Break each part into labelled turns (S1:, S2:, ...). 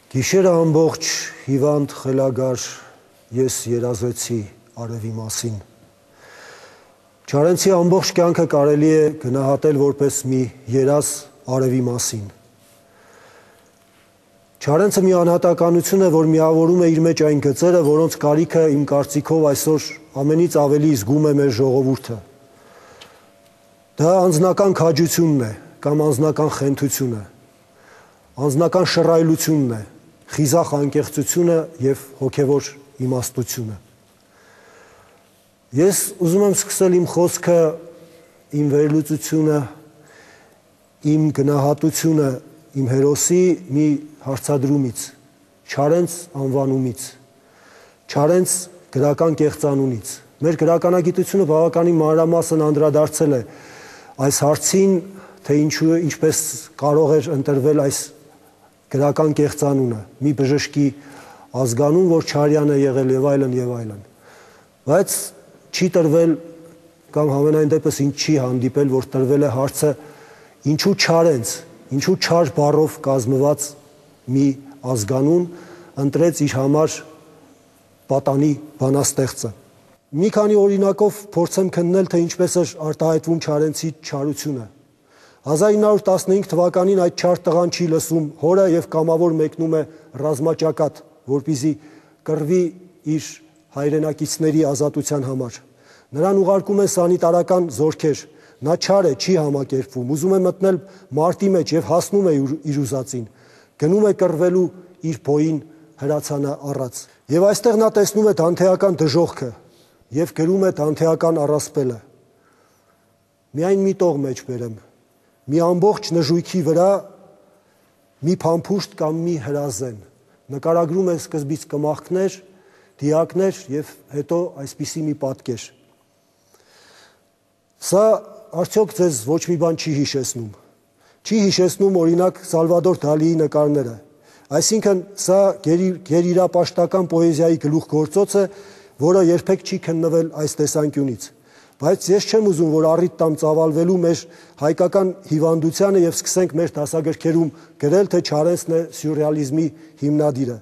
S1: Գիշերը ամբողջ հիվանդ խելագար ես երազեցի արևի մասին։ Չարենցի ամբողջ կյանքը կարելի է գնահատել որպես մի երազ արևի մասին։ Չարենցը մի անհատականություն է, որ միավորում է իր մեջ այն գծերը, որոնց կարիքը իմ կարծիքով այսօր ամենից ավելի զգում է մեր ժողովուրդը։ Դա անձնական քաջությունն է կամ անձնական խենթությունը, անձնական շռայլությունն է, խիզախ անկեղծությունը և հոգևոր իմաստությունը։ Ես ուզում եմ սկսել իմ խոսքը, իմ վերլուծությունը, իմ գնահատությունը իմ հերոսի մի հարցադրումից, Չարենց անվանումից, Չարենց գրական կեղծանունից։ Մեր գրականագիտությունը բավականին մանրամասն անդրադարձել է այս հարցին, թե ինչպես կարող էր ընտրվել այս գրական կեղծանունը, մի բժշկի ազգանուն, որ Չարյան է եղել և այլն և այլն։ Բայց չի տրվել կամ համենայն դեպս ինձ չի հանդիպել, որ տրվել է հարցը ինչու Չարենց, ինչու Չար բառով կազմված մի ազգանուն ընտրեց իր համար պատանի բանաստեղծը։ Մի քանի օրինակով փորձեմ քննել, թե ինչպես էր արտահայտվում Չարենցի չարությունը։ 1915 թվականին այդ չար տղան չի լսում հորը և կամավոր մեկնում է ռազմաճակատ, որպեսզի կռվի իր հայրենակիցների ազատության համար։ Նրան ուղարկում են սանիտարական զորքեր, նա չար է, չի համակերպվում, ուզում է մտնել մարտի մեջ և հասնում է իր ուզածին, գնում է կռվելու իր բոյին հրացանը առած։ Եվ այստեղ նա տեսնում է դանթեական դժոխքը և գրում է դանթեական առասպելը։ Միայն մի տող մեջ բերեմ, մի ամբողջ նժույգի վրա մի փամփուշտ կամ մի հրազեն, նկարագրում է սկզբից կմախքներ, դիակներ և հետո այսպիսի մի պատկեր։ Սա արդյոք ձեզ ոչ մի բան չի հիշեցնում։ Չի հիշեցնում օրինակ Սալվադոր Դալիի նկարները։ Այսինքն սա գերիրապաշտական պոեզիայի գլուխգործոց է, որը երբեք չի քննվել այս տեսանկյունից։ Բայց ես չեմ ուզում, որ առիթ տամ ծավալվելու մեր հայկական հիվանդությանը և սկսենք մեր դասագրքերում գրել, թե Չարենցն է սյուրռեալիզմի հիմնադիրը։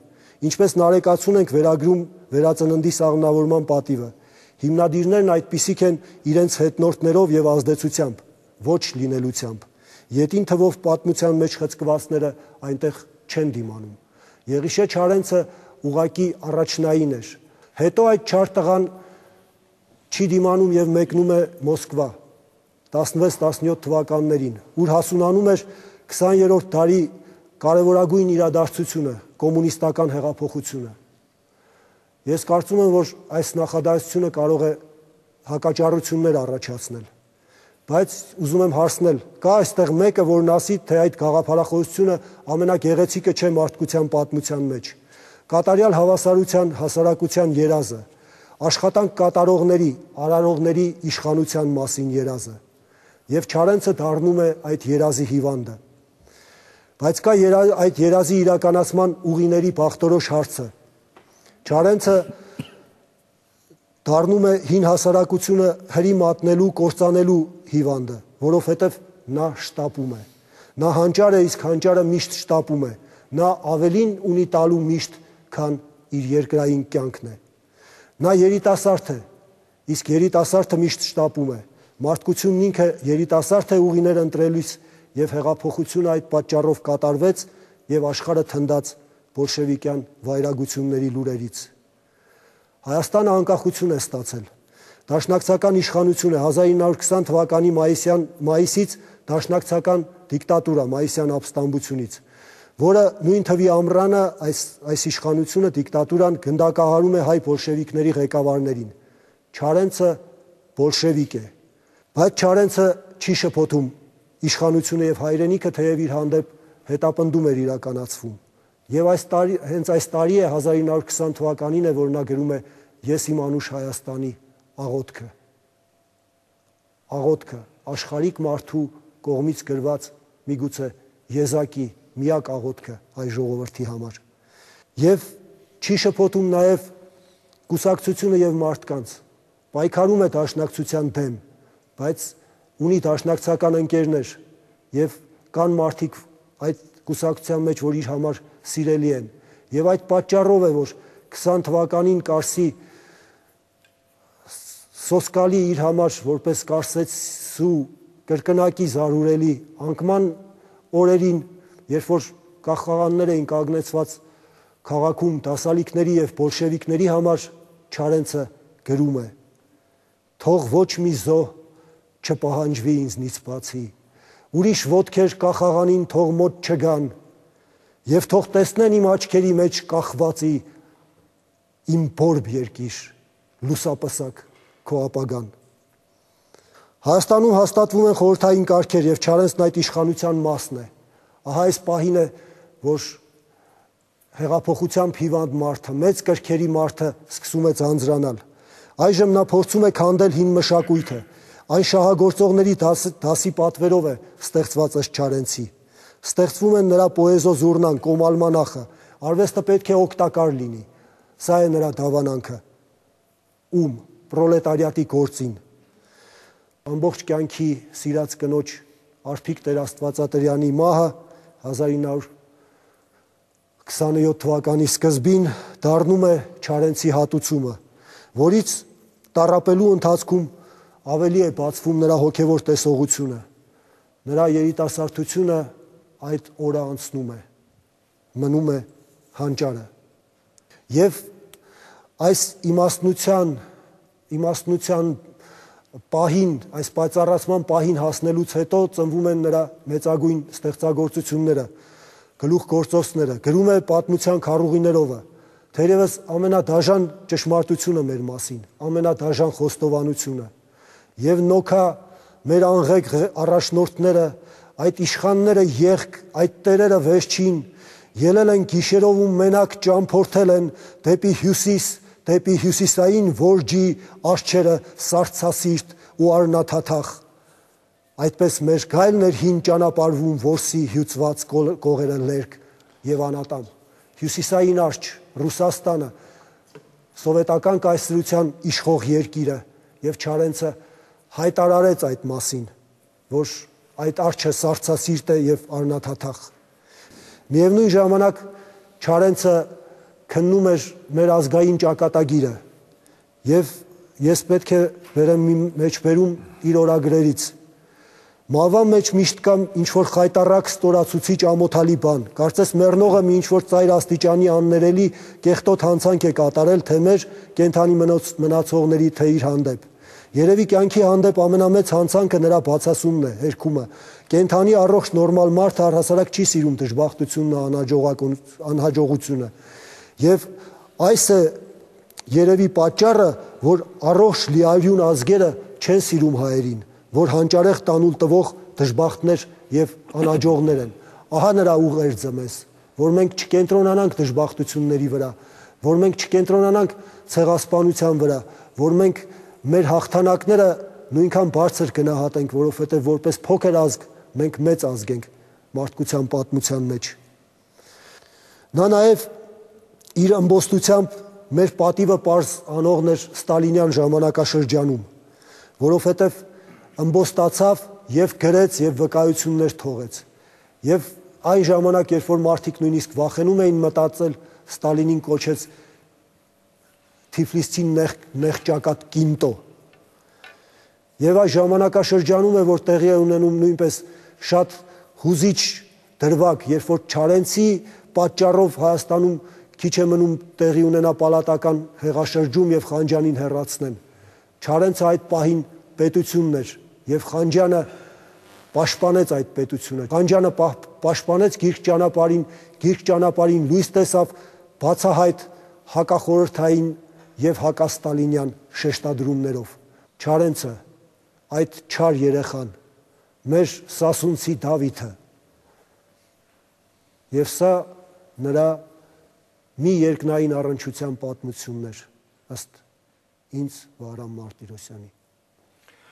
S1: Ինչպես նարեկացուն ենք վերագրում վերածննդի սաղմնավորման պատիվը։ Հիմնադիրներն այդպիսիք են իրենց հետնորդներով և ազդեցությամբ, ոչ լինելությամբ։ Ետին թվով պատմության մեջ խցկվածները այնտեղ չեն դիմանում։ Եղիշե Չարենցը ուղղակի առաջնային էր։ Հետո այդ չար տղան չի դիմանում և մեկնում է Մոսկվա 16-17 թվականներին, ուր հասունանում էր 20-րդ դարի կարևորագույն իրադարձությունը, կոմունիստական հեղափոխությունը։ Ես կարծում եմ, որ այս նախադասությունը կարող է հակաճառություններ առաջացնել, բայց ուզում եմ հարցնել, կա այստեղ մեկը, որն ասի, թե այդ գաղափարախոսությունը ամենագեղեցիկը չէ մարդկության պատմության մեջ։ Կատարյալ հավասարության հասարակության երազը, աշխատանք կատարողների, արարողների իշխանության մասին երազը, և Չարենցը դառնում է այդ երազի հիվանդը։ Բայց կա այդ երազի իրականացման ուղիների բախտորոշ հարցը։ Չարենցը դառնում է հին հասարակությունը հրի մատնելու, կործանելու հիվանդը, որովհետև նա շտապում է։ Նա հանճար է, իսկ հանճարը միշտ շտապում է։ Նա ավելին ունի տալու միշտ, քան իր երկրային կյանքն է։ Նա երիտասարդ է, իսկ երիտասարդը միշտ շտապում է։ Մարդկությունն ինքը երիտասարդ է ուղիներ ընտրելիս, և հեղափոխությունը այդ պատճառով կատարվեց և աշխարհը թնդաց բոլշևիկյան վայրագությունների լուրերից։ Հայաստանը անկախություն է ստացել։ Դաշնակցական իշխանություն է 1920 թվականի մայիսից դաշնակցական դիկտատուրա, մայիսյան ապստամբությունից, որը նույն թվի ամռանը այս իշխանությունը, դիկտատուրան գնդակահարում է հայ բոլշևիկների ղեկավարներին։ Չարենցը բոլշևիկ է, բայց Չարենցը չի շփոթում իշխանությունը և հայրենիքը, թեև իր հանդեպ հետապնդում էր իրականացվում։ Եվ հենց այս տարի է 1920 թվականին է, որ նա գրում է «Ես իմ անուշ Հայաստանի աղոթքը»։ Աղոթքը, աշխարհիկ մարդու կողմից գրված միգուցե եզակի միակ աղոթքը հայ ժողովրդի համար։ Եվ չի շփոթում նաև կուսակցությունը և մարդկանց, պայքարում է դաշնակցության դեմ, բայց ունի դաշնակցական ընկերներ և կան մարդիկ այդ կուսակցության մեջ, որ իր համար սիրելի են։ Եվ այդ պատճառով է, որ 20 թվականին Կարսի սոսկալի իր համար որպես կարսեցու կրկնակի զարուրելի անկման օրերին, երբ որ կախաղաններ էին կանգնեցված քաղաքում դասալիկների եւ բոլշևիկների համար, Չարենցը գրում է. «Թող ոչ մի զոհ չպահանջվի ինձնից բացի, ուրիշ ոտքեր կախաղանին թող մոտ չգան, եւ թող տեսնեն իմ աչքերի մեջ կախվածի իմ բորբ երկիր, լուսապսակ քո ապագան»։ Հայաստանում հաստատվում են խորհրդային կարգեր եւ Չարենցն այդ իշխանության մասն է։ Ահա այս պահին է, որ հեղափոխությամբ հիվանդ մարդը, մեծ կրքերի մարդը սկսում է ձանձրանալ։ Այժմ նա փորձում է քանդել հին մշակույթը։ Այն շահագործողների դասի պատվերով է ստեղծված ըստ Չարենցի։ Ստեղծվում են նրա պոեզոզուրնան, կոմալմանախը, արվեստը պետք է օգտակար լինի։ Սա է նրա դավանանքը։ Ում պրոլետարիատի գործին։ Ամբողջ կյանքի սիրած կնոջ Արփիկ Տեր-Աստվածատրյանի մահը 1927 թվականի սկզբին դառնում է Չարենցի հատուցումը, որից տառապելու ընթացքում ավելի է բացվում նրա հոգևոր տեսողությունը։ Նրա երիտասարդությունը այդ օրը անցնում է, մնում է հանճարը։ Եվ այս իմաստնության պահին, այս պայծառացման պահին հասնելուց հետո ծնվում են նրա մեծագույն ստեղծագործությունները, գլուխգործոցները, գրում է պատմության քառուղիներովը, թերևս ամենադաժան ճշմարտությունը մեր մասին, ամենադաժան խոստովանությունը։ Եվ նոքա մեր անղեկ առաջնորդները, այդ իշխանները եղք, այդ տերերը վերջին, ելել են գիշերով ու մենակ ճամփորդել են դեպի հյուսիս, դեպի հյուսիսային որջի արջերը սառցասիրտ ու արնաթաթախ։ Այդպես մեր գայլն էր հին ճանապարհվում որսի հյուծված կողերը լերկ եւ անատամ։ Հյուսիսային արջ, Ռուսաստանը, սովետական կայսրության իշխող երկիրը, եւ Չարենցը հայտարարեց այդ մասին, որ այդ արջը սառցասիրտ է եւ արնաթաթախ։ Միևնույն ժամանակ Չարենցը քննում էր մեր ազգային ճակատագիրը եւ ես պետք է վերեմ մեջբերում իր օրագրերից։ Մահվա մեջ միշտ կամ ինչ-որ խայտառակ ստորացուցիչ ամոթալի բան, կարծես մեռնողը մի ինչ-որ ծայր աստիճանի աններելի կեղտոտ հանցանք է կատարել թե մեր կենդանի մնացողների, թե իր հանդեպ։ Երևի կյանքի հանդեպ ամենամեծ հանցանքը նրա բացասումն է, հերքումը։ Կենդանի առողջ նորմալ մարդը առհասարակ չի սիրում դժբախտությունն, անհաջողությունը։ Եվ այս է երևի պատճառը, որ առողջ լիարյուն ազգերը չեն սիրում հայերին, որ հանճարեղ տանուլ տվող դժբախտներ եւ անհաջողներ են։ Ահա նրա ուղերձը մեզ, որ մենք չկենտրոնանանք դժբախտությունների վրա, որ մենք չկենտրոնանանք ցեղասպանության վրա, որ մենք մեր հաղթանակները նույնքան բարձր գնահատենք, որովհետեւ որպես փոքր ազգ մենք մեծ ազգ ենք մարդկության պատմության մեջ։ Նա նաեւ իր ըմբոստությամբ մեր պատիվը պարզ անողն էր ստալինյան ժամանակաշրջանում, որովհետև ըմբոստացավ եւ գրեց եւ վկայություններ թողեց։ Եվ այն ժամանակ, երբ որ մարդիկ նույնիսկ վախենում էին մտածել, Ստալինին կոչեց Թիֆլիսցի նեղճակատ կինտո։ Եվ այս ժամանակաշրջանում է, որ տեղի է ունենում նույնպես շատ հուզիչ դրվագ, երբ որ Չարենցի պատճառով Հայաստանում քիչ է մնում տեղի ունենա պալատական հեղաշրջում եւ Խանջյանին հեռացնեն։ Չարենցը այդ պահին պետությունն էր եւ Խանջյանը պաշտպանեց այդ պետությունը։ Խանջյանը պաշտպանեց գիրք ճանապարհին լույս տեսավ բացահայտ հակախորհրդային եւ հակաստալինյան շեշտադրումներով։ Չարենցը, այդ չար երեխան, մեր սասունցի Դավիթը։ Եվ սա նրա մի երկնային առնչության պատմությունն էր, ըստ ինձ Վահրամ Մարտիրոսյանի։